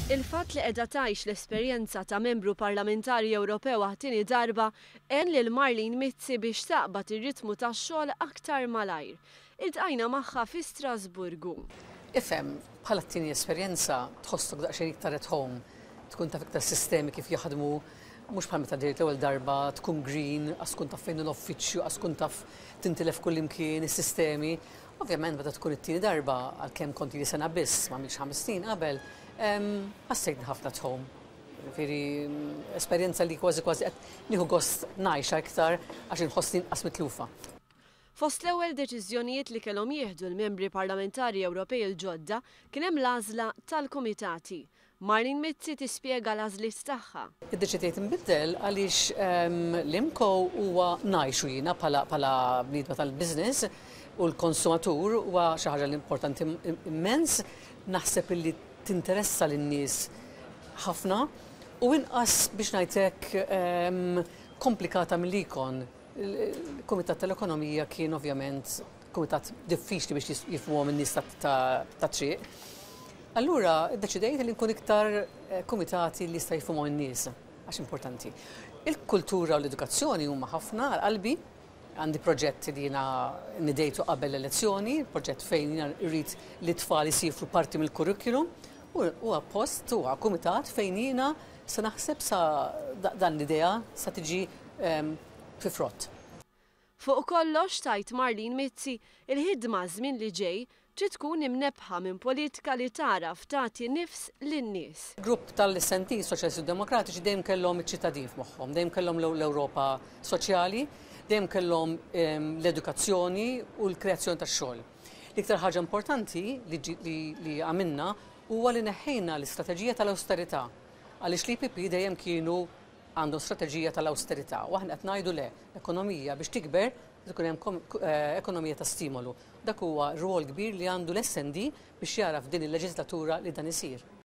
Il-fatt li qiegħda tgħix l-esperjenza ta' membru parlamentari Ewropew għat-tieni darba għen lil Marlene Mizzi biex taqbad ir-ritmu tax-xogħol aktar malajr. Iltqajna magħha fi Strasburgu. Ifhem, bħala t-tieni esperjenza tħossok daqsxejn iktar at home, tkun taf iktar sistemi kif jaħdmu, mhux bħal meta ġejt l-ewwel darba tkun green, qas tkun taf fejn hu l-uffiċċju, qas tkun taf tintilef kullimkien is-sistemi. Ovvjament meta tkun it-tieni darba, għalkemm kont ili sena biss, ma għamiltx 5 snin qabel, ħassejtni ħafna at home. Ġifieri esperjenza li kważi kważi qed nieħu gost ngħixha iktar għax inħossni inqas mitlufa. Fost l-ewwel deċiżjonijiet li kellhom jieħdu l-membri parlamentari Ewropej il-ġodda kien hemm l-għażla tal-kumitati. Marlene Mizzi tispjega l-għażliet tagħha. Iddeċidejt nbiddel għaliex l-IMCO huwa ngħixu jiena bħala bniedma tal-business u l-konsumatur huwa xi ħaġa li importanti immens, naħseb illi tinteressa lin-nies ħafna u inqas biex ngħid hekk komplikata mill-Econ. Il-Kumitat tal-Ekonomija kien ovvjament kumitat diffiċli biex jifhmuhom in-nies tat-triq. Allura ddeċidejt li nkun iktar kumitati li jista' jifhmuhom in-nies għax importanti. Il-kultura u l-edukazzjoni huma ħafna għal qalbi. Għandi proġett li jiena nidejtu qabel l-elezzjoni, proġett fejn jiena rrid li t-tfal isifru parti mill-curriculum u huwa post, huwa kumitat fejn jiena se naħseb sa dan l-idea sa tiġi fi frott. Fuq kollox tgħid Marlene Mizzi, il-ħidma żmien li ġej trid tkun imnebbħa minn politika li tagħraf tagħti nifs lin-nies. Grupp tal-SND, Soċjalisti Demokratiċi, dejjem kellhom iċ-ċittadin f'moħħhom, dejjem kellhom l-Ewropa soċjali, dejjem kellhom l-edukazzjoni u l-kreazzjoni tax-xogħol. L-iktar ħaġa importanti li għamilna huwa li neħħejna l-istrateġija tal-awsterità għaliex l-EPP dejjem kienu għandhom strateġija tal-awsterità u aħna qed ngħidu le, l-ekonomija biex tikber ikun hemm ekonomija ta' stimolu. Dak huwa rwol kbir li għandu l-SND biex jara f'din il-leġislatura li dan isir.